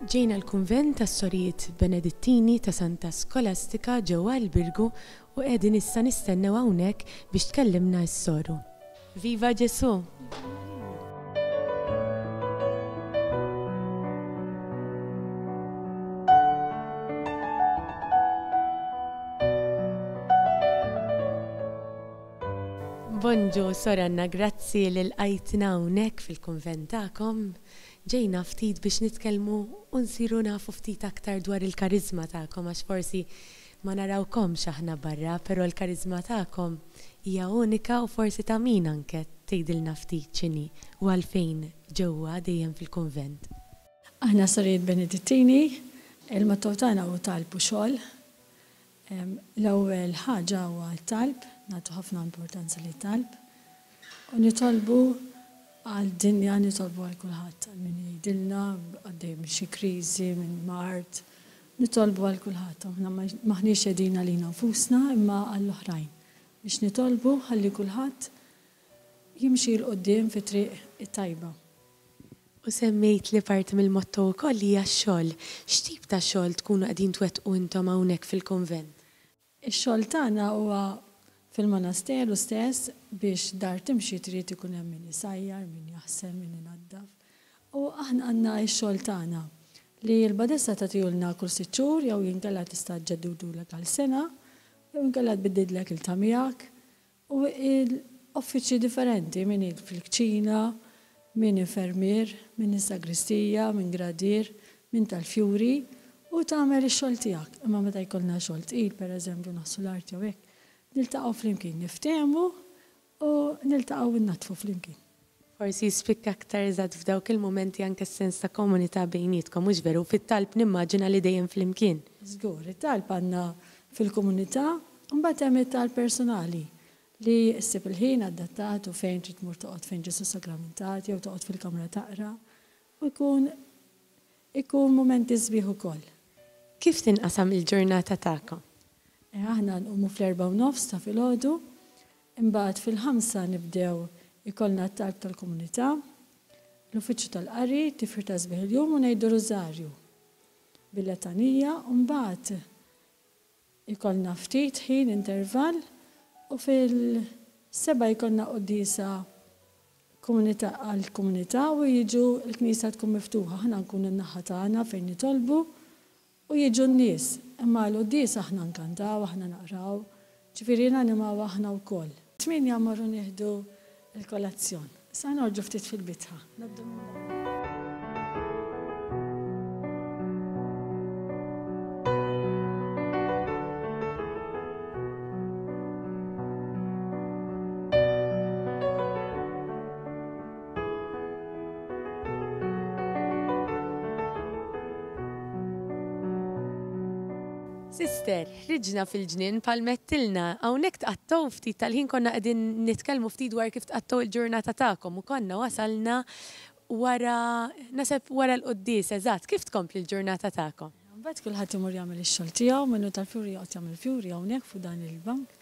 Ġejna l-Kunvent tas-Sorijiet Benedittini ta' Santa Skolastika ġewwa l-Birgu u qegħdin issa nistennew hawnhekk biex tkellimna s-soru. Viva Ġesù! Bonġu, Sor Anna, grazzi li lqajtna hawnhekk fil-kunvent tagħkom. Ġejna ftit biex nitkellmu u nsiru nafu ftit aktar dwar il-kariżma tagħkom għax forsi ma narawkomx aħna barra, però l-kariżma tagħkom hija unika u forsi ta' min anke tgħidilna ftit x'inhi u għalfejn ġewwa dejjem fil-kunvent. Aħna Sorijiet Benedittini, il-motto tagħna hu talb u xogħol. L-ewwel ħaġa huwa t-talb, nagħtu ħafna importanza lit-talb. U nitolbu għad-dinja, nitolbu għal kulħadd, għal min jgħidilna għaddej minn xi kriżi, minn mard. Nitolbu għal kulħadd. Aħna m'aħniex qegħdin għalina nfusna imma għall-oħrajn. Biex nitolbu ħalli kulħadd jimxi 'l quddiem fit-triq it-tajba. U semmejt li parti mill-motto wkoll hija x-xogħol. X'tip ta' xogħol tkunu qegħdin twettqu intom hawnhekk fil-kunvent? Ix-xogħol tagħna huwa fil-monasteru stess biex dar timxi trid ikun hemm min isajjar, min jaħsel, min inaddaf. U aħna għandna x-xogħol tagħna li l-badessa tagħtihulna kull sitt xhur jew inkella tista' ġġeddudulek għal sena jew inkella tbiddidlek il-ta' miegħek. U uffiċċji differenti, min fil-kċina, min infermier, min is-sagristija, min gradier, min tal-fjuri, u tagħmel ix-xogħol tiegħek. Imma meta jkollna xogħol tqil, pereżempju naħslu l-art jew hekk, niltaqgħu flimkien, niftehmu u niltaqgħu u nnaddfu flimkien. Forsi jispikka aktar eżatt f'dawk il-mumenti anke s-sens ta' komunità bejnietkom, hux veru? Fit-talb nimmaġina li dejjem flimkien. Żgur, it-talb għandna fil-komunità, u mbagħad hemm it-talb personali li ssib il-ħin adattat u fejn trid tmur toqgħod fejn Ġesù Sagramentat jew toqgħod fil-kamra taqra u jkun ikun mumenti sbieħ ukoll. Kif tinqasam il-ġurnata tagħkom? Aħna nqumu fl-4:30 ta' filgħodu, Imbagħad fil-ħamsa nibdew ikollna t-talb tal-komunità, l-uffiċċju tal-qari, tifħir ta' sbieħ il-jum u ngħidu rużarju bil-letanija u mbagħad ikollna ftit ħin intervall u fil-sebgħa jkollna quddiesa komunità għall-komunità u jiġu l-knisja tkun miftuħa aħna nkunu n-naħa tagħna fejn nitolbu U jiġu n-nies, imma għall-quddies aħna nkantaw, aħna naqraw, ġifieri nanimaw aħna wkoll. Tmienja mmorru nieħdu l-kolazzjon. Issa norġu ftit fil-bitħa. Ngħaddu minn dan. Sister, ħriġna fil-ġnien palmettilna, hawnhekk tqattgħu ftit tal-ħin konna qegħdin nitkellmu ftit dwar kif tqattgħu il-ġurnata tagħkom u konna wasalna wara naħseb wara l-quddies eżatt, kif tkompli l-ġurnata tagħkom? Imbagħad kulħadd imur jagħmel ix-xogħol tiegħu, min hu tal-fjuri joqgħod jagħmel fjuri hawnhekk fuq dan il-bank.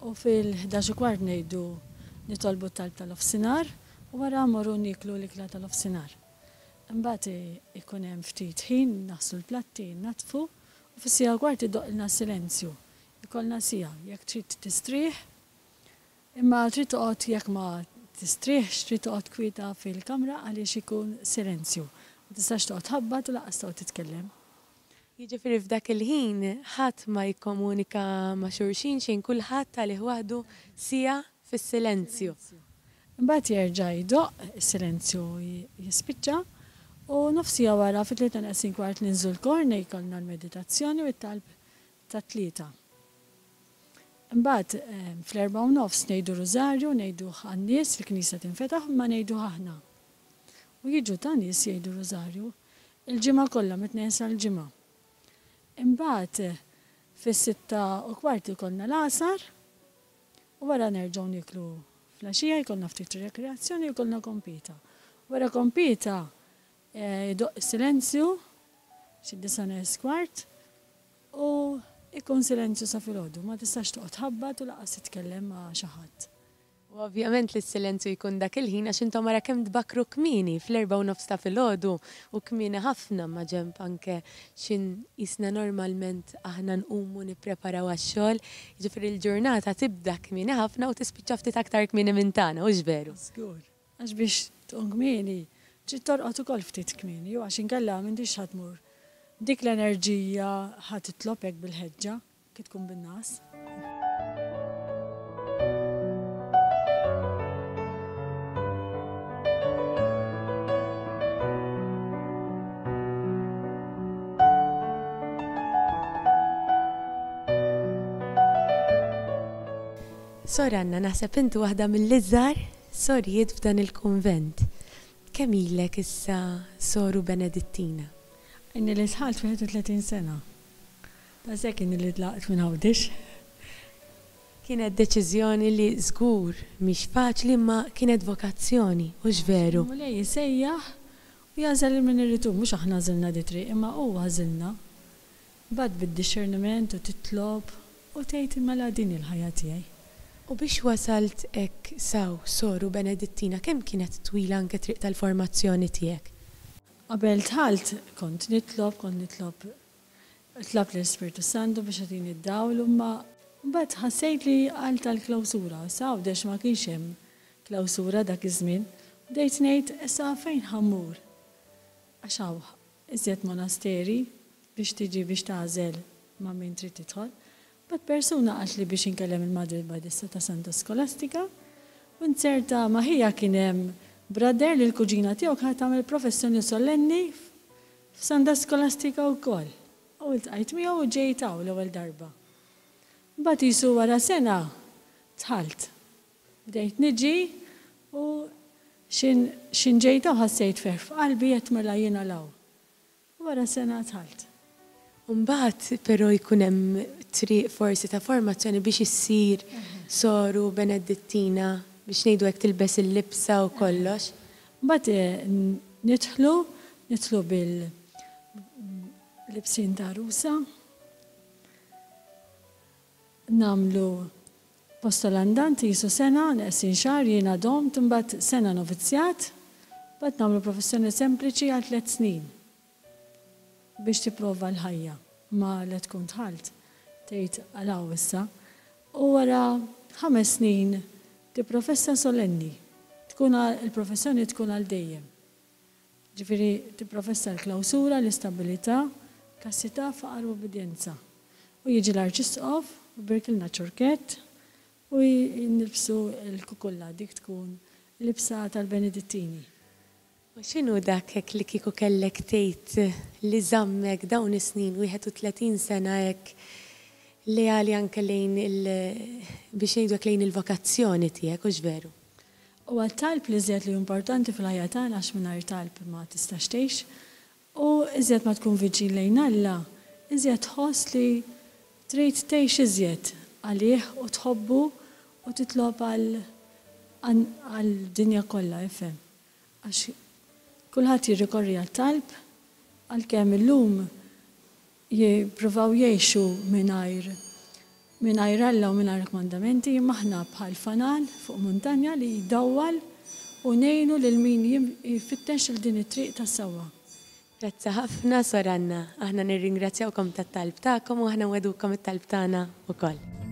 U fil-11 u kwart ngħidu nitolbu t-talb tal-ofsinhar u wara mmorru nieklu l-ikla tal-ofsinhar. Imbagħad ikun hemm ftit ħin naħslu l-platti, innaddfu u fis-siegħa u kwart idoqqilna s-silenzju. Ikollna siegħa jekk trid tistrieħ Imma trid toqgħod jekk ma tistrieħx trid toqgħod kwieta fil-kamra għaliex ikun silenzju. Ma tistax toqgħod tħabbat u lanqas toqgħod titkellem. Jiġifieri f'dak il-ħin ħadd ma jikkomunika ma' xulxin xejn kulħadd għalih waħdu siegħa fis-silenzju. Imbagħad jerġa' jdoqq, is-silenzju jispiċċa u nofs siegħa wara fit-tlieta neqsin kwart ninżlu l-kor jkollna l-meditazzjoni u t-talb tat-tlieta. Imbagħad fl-4:30 ngħidu rużarju, ngħiduh għan-nies, il-knisja tinfetaħ imma ngħiduh aħna. U jiġu ta' nies jgħidu rużarju il-ġimgħa kollha mit-Tnejn sal-Ġimgħa. Imbagħad fis-6:15 ikollna l-għasar u wara nerġgħu nieklu fl-għaxija jkollna ftit rekreazzjoni u jkollna kompita. Wara kompita Idoqq is-silenzju, xi disa' neqes kwart, u jkun silenzju sa filgħodu. Ma tistax toqgħod tħabbat u lanqas titkellem ma' xi ħadd. U ovvjament li s-silenzju jkun dak il-ħin għax intom ara kemm tbakkru kmieni, fl-erbgħa u nofs ta' filgħodu u kmieni ħafna maġenb anke x'in qisna normalment aħna nqumu nippreparaw għax-xogħol. Jiġifieri l-ġurnata tibda kmieni ħafna u tispiċċa ftit aktar kmieni minn tagħna, hux veru? Żgur. Għax biex tqum kmieni, trid torqod ukoll ftit kmieni, għax inkella m'intix ħa tmur b'dik l-enerġija ħa titlob hekk bil-ħeġġa. Ki tkun bin-ngħas. Sor Anna, naħseb inti waħda mill-iżgħar sorijiet f'dan il-kunvent. Kemm ilek issa soru Benedittina? Inni li dħalt 31 sena. Daqshekk inni li tlaqt minn Għawdex. Kienet deċiżjoni li żgur mhix faċli imma kienet vokazzjoni, hux veru? Il-Mulej isejjaħ u jagħżel lil min irid hu, mhux aħna għażilna di triq imma hu għażilna. Imbagħad bid-dixxerniment u titlob u tgħid mela din hi l-ħajja tiegħi. U biex wasalt hekk s'hawn soru Benedittina kemm kienet twila anke triq tal-formazzjoni tiegħek? Qabel dħalt kont nitlob, kont nitlob Tlabt lill-Ispirtu s-Santu biex jagħtini d-dawl imma mbagħad ħassejt li għal tal-klawsura, issa Għawdex ma kienx hemm klawsura dak iż-żmien, bdejt ngħid issa fejn ħa mmur? Għax hawn iżjed monasteri biex tiġi biex tagħżel ma' min trid tidħol. Mbagħad persuna qaltli biex inkellem il-Madre Badessa ta' Santa Skolastika u nzerta ma' ħija kien hemm brother li l-kuġina tiegħu kienet tagħmel professjoni solenni F'Santa Skolastika wkoll. U ltqajt miegħu u ġejt hawn l-ewwel darba. Mbagħad qisu wara sena dħalt. Bdejt niġi u x'in x'in ġejt hawn ħassejt ferħ f'qalbi għedt mela jien għal hawn. U wara sena dħalt. U mbagħad però jkun hemm triq forsi ta' formazzjoni biex issir soru Benedittina, biex ngħidu hekk tilbes il-libsa u kollox. Mbagħad nidħlu, nidħlu bil libsin ta' għarusa, nagħmlu postolandant qisu sena, neqsin xahar, jiena domt, imbagħad sena novizzjat, mbagħad nagħmlu professjoni sempliċi għal tlett snin. Biex tipprova l-ħajja ma la tkun dħalt tgħid għal hawn issa u wara ħames snin tipprofessa solenni tkun il-professjoni tkun għal dejjem. Ġifieri tipprofessa l-klawsura, l-istabilità, kastità, faqar u ubbidjenza. U jiġi l-Arċisqof u jbierkilna ċurkett u nilbsu l-kukulla dik tkun libsa tal-Benedittini. U x'inhu dak hekk li kieku kellek tgħid li żammek dawn is-snin, 31 sena hekk leali anke lejn il, biex ngħidu hekk lejn il-vokazzjoni tiegħek, hux veru? Huwa t-talb l-iżjed li hu importanti fil-ħajja tagħna għax mingħajr talb ma tistax tgħix. U iżjed ma tkun viċin lejn Alla, iżjed tħoss li trid tgħix iżjed għalih u tħobbu u titlob għal għad-dinja kollha, ifhem. Għax kulħadd jirrikorri għat-talb, għalkemm illum jippruvaw jgħixu mingħajr mingħajr Alla u mingħajr kmandamenti, imma aħna bħal fanal fuq muntanja li jdawwal u ngħinu lil min jfittex 'il din it-triq tas-sewwa. Grazzi ħafna Sor Anna. Aħna nirringrazzjawkom tat-talb tagħkom u aħna nwegħdukom it-talb tagħna wkoll.